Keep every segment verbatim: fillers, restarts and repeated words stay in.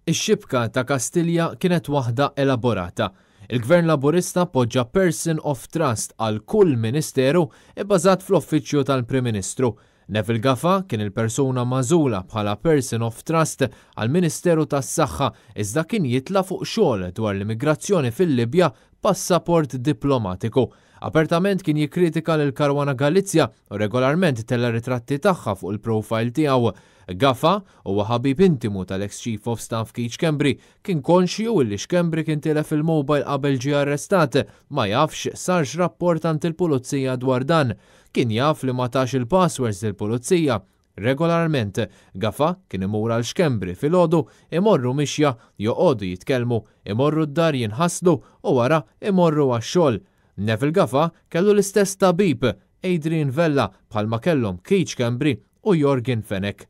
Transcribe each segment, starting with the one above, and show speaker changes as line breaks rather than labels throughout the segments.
Ix-xibka ta' Kastilja kienet waħda elaborata. Il-Gvern Laburista poġġa person of trust għal kull ministeru ibbażat fl-uffiċċju tal-Prim Ministru. Neville Gafà kien il-persuna magħżula bħala person of trust għal Ministeru tas-Saħħa, iżda kien jitla fuq xogħol dwar l-immigrazzjoni fil-Libja passaport diplomatiku. Apertament kien jikkritika lil Caruana Galizia u regolarment tella ritratti tagħha fuq il-profile tiegħu. Gafà huwa ħabib intimu tal-ex Chief of Staff Keith Schembri, kien konxju li Schembri kien tilef il-mobile qabel ġie arrestat, ma jafx sarx rapport għand il-pulizija dwar dan. Kien jaf li ma tax il-passwords lill-pulizija. Regolarment, Gafà kien imur għal Schembri filgħodu, imorru mixja, joqogħdu jitkellmu, imorru d-dar jinħaslu u wara imorru għax-xogħol. Neville Gafà kellu l-istess tabib, Adrian Vella, bħalma kellhom Keith Schembri u Yorgen Fenech.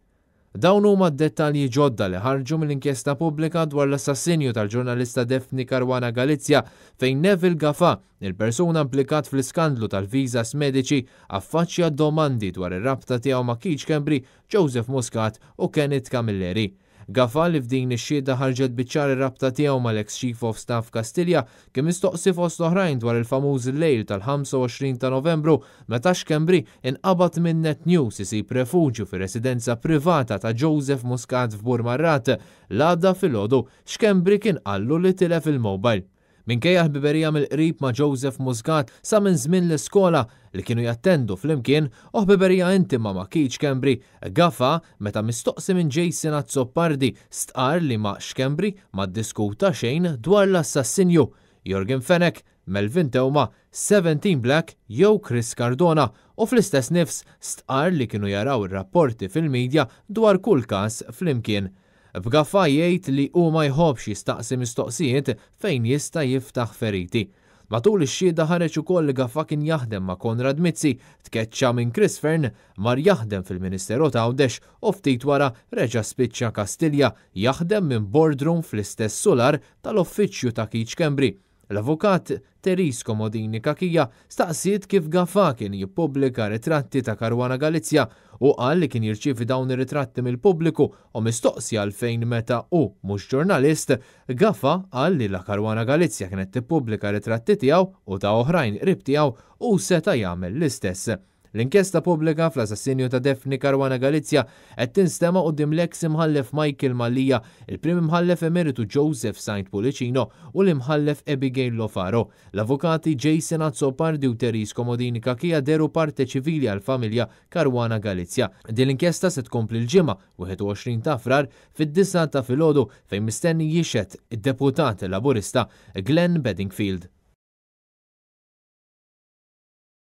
Dawn huma d-dettalji ġodda li ħarġu mill-inkjesta pubblika dwar l-assassinju tal-ġurnalista Daphne Caruana Galizia, fejn Neville Gafà, il-persuna implikat fl-iskandlu tal-viżas mediċi, affaċċja domandi dwar ir-rabta tiegħu ma' Keith Schembri, Joseph Muscat u Kenneth Camilleri. Gafà, li f'din ix-xhieda ħarġet biċ-ċar ir-rabta tiegħu mal-ex Chief of Staff Kastilja, kien mistoqsi fost oħrajn dwar il-famuż lejl tal-ħamsa u għoxrin ta' Novembru, meta Schembri inqabad minn Net News isib refuġju fir-residenza privata ta' Joseph Muscat f'Burmarrat. L-għada filgħodu Schembri kien qallu li tilef il-mobile. Minkejja ħbiberija mill-qrib ma' Joseph Muscat sa minn żmien l-iskola li kienu jattendu flimkien u ħbiberija intima ma' Keith Schembri, Gafà, meta mistoqsi minn Jason Azzopardi, stqar li ma' Schembri ma ddiskuta xejn dwar l-assassinju, Yorgen Fenech, Melvin Theuma, seventeen Black jew Chris Cardona, u fl-istess nifs stqar li kienu jaraw ir-rapporti fil-medja dwar kull każ flimkien. B'Gafà jgħid li hu ma jħobbx jistaqsi mistoqsijiet fejn jista' jiftaħ feriti. Matul ix-xhieda ħareġ ukoll li Gafà kien jaħdem ma' Konrad Mizzi, tkeċċa minn Chris Fearne, mar jaħdem fil-Ministeru ta' Għawdex u ftit wara reġa' spiċċa Kastilja jaħdem minn boardroom fl-istess solar tal-uffiċċju ta' Keith Schembri. L-avukat Therese Comodini Cachia staqsiet kif Gafà kien jippubblika ritratti ta' Caruana Galizia, u qal li kien jirċievi dawn ir-ritratti mill-pubbliku, u mistoqsi għalfejn meta hu mhux ġurnalist, Gafà qal li la Caruana Galizia kienet tippubblika ritratti tiegħu u ta' oħrajn qrib tiegħu, u seta' jagħmel l-istess. L-inkjesta pubblika fl-assassinju ta' Daphne Caruana Galizia qed tinstema' quddiem l-ex imħallef Michael Mallia, il-prim imħallef emeritu Joseph Saint Pullicino u l-imħallef Abigail Lofaro. L-avukati Jason Azzopardi u Therese Comodini Cachia dehru parte ċivili għal-familja Caruana Galizia. Din l-inkjesta se tkompli l-Ġimgħa wieħed u għoxrin ta' Frar fid-disgħa ta' filgħodu, fejn mistenni jixhed id-deputat Laburista Glenn Bedingfield.